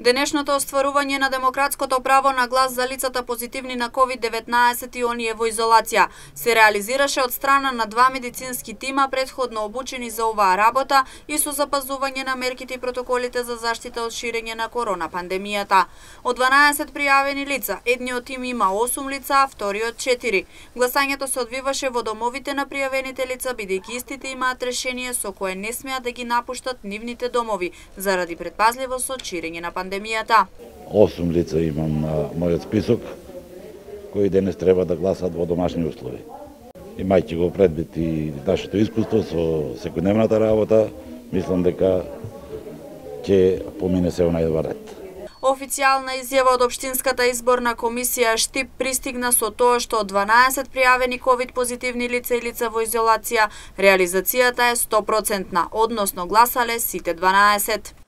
Денешното остварување на демократското право на глас за лицата позитивни на COVID-19 и оние во изолација се реализираше од страна на 2 медицински тима предходно обучени за оваа работа и со запазување на мерките и протоколите за заштита од ширење на корона пандемијата. Од 12 пријавени лица, едниот тим има 8 лица, а вториот 4. Гласањето се одвиваше во домовите на пријавените лица, бидејќи истите имаат решение со кое не смеат да ги напуштат нивните домови заради предпазливост од ширење на пандемијата. 8 лица имам на мојот список, кои денес треба да гласат во домашни услови. Имајќи го предвид и нашето искуство со секојдневната работа, мислам дека ќе помине се најдобар ред. Официјална изјава од Општинската изборна комисија Штип пристигна со тоа што од 12 пријавени ковид позитивни лица и лица во изолација, реализацијата е 100%, односно гласале сите 12.